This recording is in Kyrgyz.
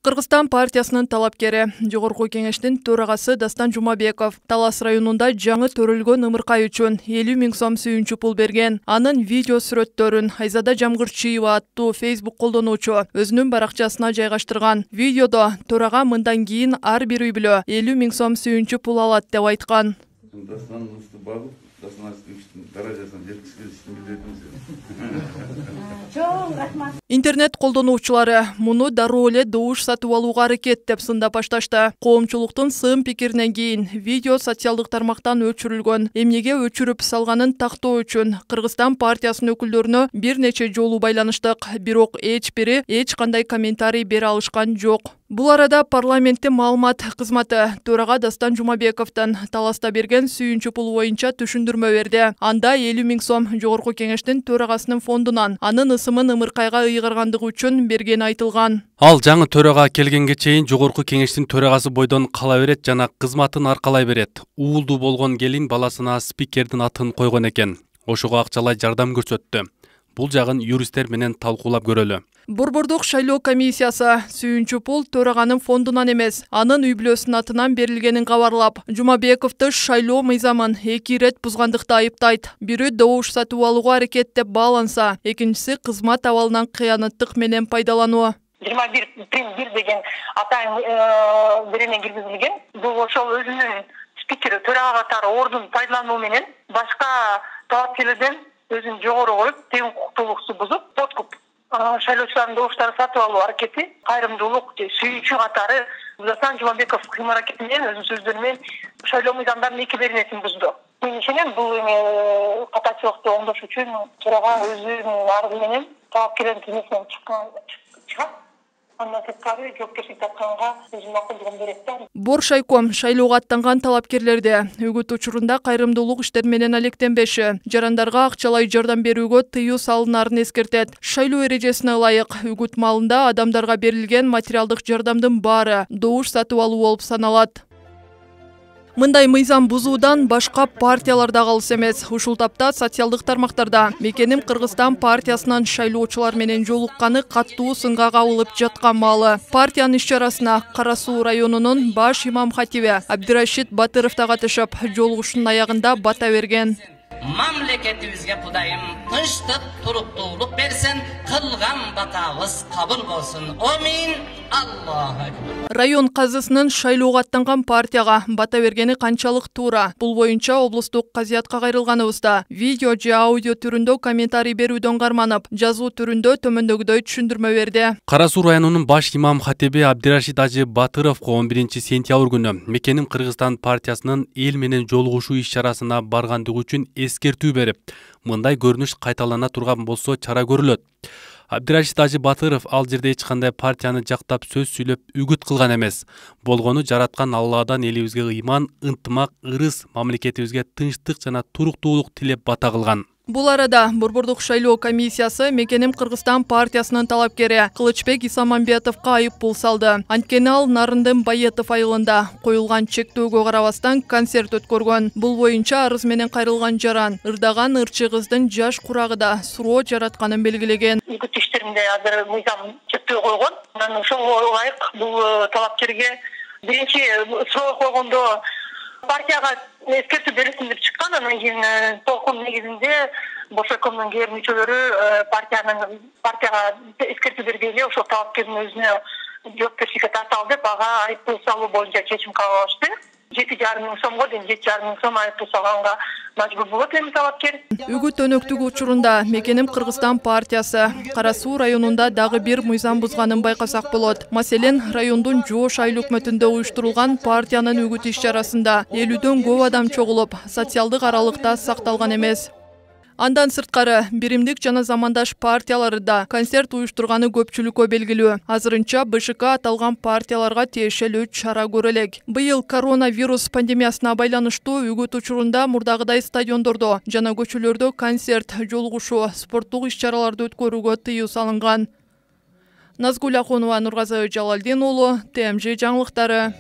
Кыргызстан партиясынын талапкери, Жогорку кеңештин төрагасы Дастан Жумабеков Талас районунда жаңы төрөлгөн ымыркай үчүн 50 000 сом сүйүнчү пул берген. Анын видео сүрөттөрүн Айзада Жамгырчиева аттуу Facebook колдонуучу өзүнүн баракчасына жайгаштырган. Видеодо төрага мындан кийин ар бир үй бүлө 50 000 сом сүйүнчү пул алат деп айткан. Интернет колдонуучулары муну дароо эле добуш сатып алууга аракет деп сындап башташты. Коомчулуктун сын пикиринен кийин видео социалдык тармактан өчүрүлгөн. Эмнеге өчүрүп салганын тактоо үчүн Кыргызстан партиясынын өкүлдөрүнө бир нече жолу байланыштык, бирок эч бири эч кандай комментарий бере алышкан жок. Бул арада парламенттин маалымат кызматы төрага Дастан Жумабековдон Таласта берген сүйүнчү пул боюнча түшүндүрмө берди. Анда 50 000 сом Жогорку кеңештин төрагасынын фондунан анын ысымын ымыркайга ыйгаргандыгы үчүн бергени айтылган. Ал жаңы төрага келгенге чейин Жогорку кеңештин төрагасы бойдон кала берет жана кызматын аркалай берет. Уулдуу болгон келин баласына спикердин атын койгон экен. Ошого акчалай жардам көрсөттү. Бул жагын юристтер менен талкуулап көрөлү. Борбордук шайлоо комиссиясы сүйүнчү пул төраганын фондунан эмес, анын үй бүлөсүнүн атынан берилгенин кабарлап, Жумабековду шайлоо мыйзамын 2 ирет бузгандыкта айыптайт. Бири добуш сатып алууга аракет деп бааланса, экинчиси кызмат абалынан кыянаттык менен пайдалануу. 21 деген атайын берене киргизилген. Бул ошол өзүнүн спикери төрага катары ордун пайдалануу менен башка талапкерлерден өзүн жогору коюп, тең укуктуулукту бузуп, подкуп шайлоочулардын добуштарын сатып алуу аракети, кайрымдуулук, сүйүүчү катары Дастан Жумабеков кыйм аракети менен өзүнүн сөздөрү менен шайлоо мыйзамдарынын 2 беренесин бузду. Мен ишенем, бул эми катачылыкты оңдош үчүн төрага өзүнүн арызы менен талапкерлердин тизмесинен чыгат. Андан сырткары жоопкерчилик тартканга өзүнүн макулдугун берет да. Боршайком шайлоого аттанган талапкерлерди үгүт учурунда кайрымдуулук иштер менен алектенбеши, жарандарга акчалай жардам берүүгө тыюу салынарын эскертет. Шайлоо эрежесине ылайык үгүт маалында адамдарга берилген материалдык жардамдын баары добуш сатып алуу болуп саналат. Мындай мыйзам бузуудан башка партияларда калыс эмес. Ушул тапта социалдык тармактарда Мекеним Кыргызстан партиясынан шайлоочулар менен жолукканы каттуу сынга кабылып жаткан маалы. Партиянын иш-чарасына Кара Суу районунун баш имам хатиби Абдирашид Батыров да катышып, жолугушуунун аягында бата берген. Мамлекетибизге Кудайым тынчтык, туруктуулук берсин, кылган батабыз кабыл болсун. Амин. Аллаху акбар. Район казысынын шайлоого аттанган партияга бата бергени канчалык туура? Бул боюнча облустук казиятка кайрылганыбызда видео же аудио түрүндө комментарий берүүдөн карманып, жазуу түрүндө төмөндөгүдөй түшүндүрмө берди. Кара Суу районунун баш имам хатиби Абдирашид Ажы Батыровго 11 сентябрь күнү Мекеним Кыргызстан партиясынын эл менен жолугушуу иш-чарасына баргандыгы үчүн эскертүү берип, мындай көрүнүш кайталана турган болсо чара көрүлөт. Абдирашид Ажы Батыров ал жерде эч кандай партияны жактап сөз сүйлөп үгүт кылган эмес. Болгону жараткан Алладан элибизге ыйман, ынтымак, ырыс, мамлекетибизге тынчтык жана туруктуулук тилеп бата кылган. Бул арада Борбордук шайлоо комиссиясы Мекеним Кыргызстан партиясынын талапкери Кылычбек Исамамбетовго айып пул салды. Анткени ал Нарындын Байетов айылында коюлган чектөөгө карабастан концерт өткөргөн. Бул боюнча арыз менен кайрылган жаран ырдаган ырчы кыздын жаш курагыда суроо жаратканын белгилеген. Үгүт иштеринде азыр мыйзам чектөө койгон. Анан ошого ылайык бул талапкерге биринчи суроо койгондо партияга эскертүү берилсин деп чыккан. Анан кийин толкун негизинде Боршайкомдун кээ бир мүчөлөрү партияга эскертүү бергенде ошол талапкердин өзүнө жоопкерчиликке тарталы деп ага айып пул салуу боюнча чечим кабыл алышты. 7,5 000 сомго дейин 7,5 000 сом айып пул салганга мажбур болот эми талапкер. Үгүт өнөктүгү учурунда Мекеним Кыргызстан партиясы Кара Суу районунда дагы бир мыйзам бузганын байкасак болот. Маселен, райондун Жоош айыл өкмөтүндө уюштурулган партиянын үгүт иш-чарасында 50дөн көп адам чогулуп, социалдык аралыкта сакталган эмес. Андан сырткары биримдик жана замандаш партиялары да концерт уюштурганы көпчүлүккө белгилүү. Азырынча БШК аталган партияларга тиешелүү чара көрө элек. Быйыл коронавирус пандемиясына байланыштуу үгүт учурунда мурдагыдай стадиондордо жана көчөлөрдө концерт, жолугушуу, спорттук иш-чараларды өткөрүүгө тыюу салынган. Назгул Ахунова, Нургазы Жалалдин уулу, ТМЖ жаңылыктары.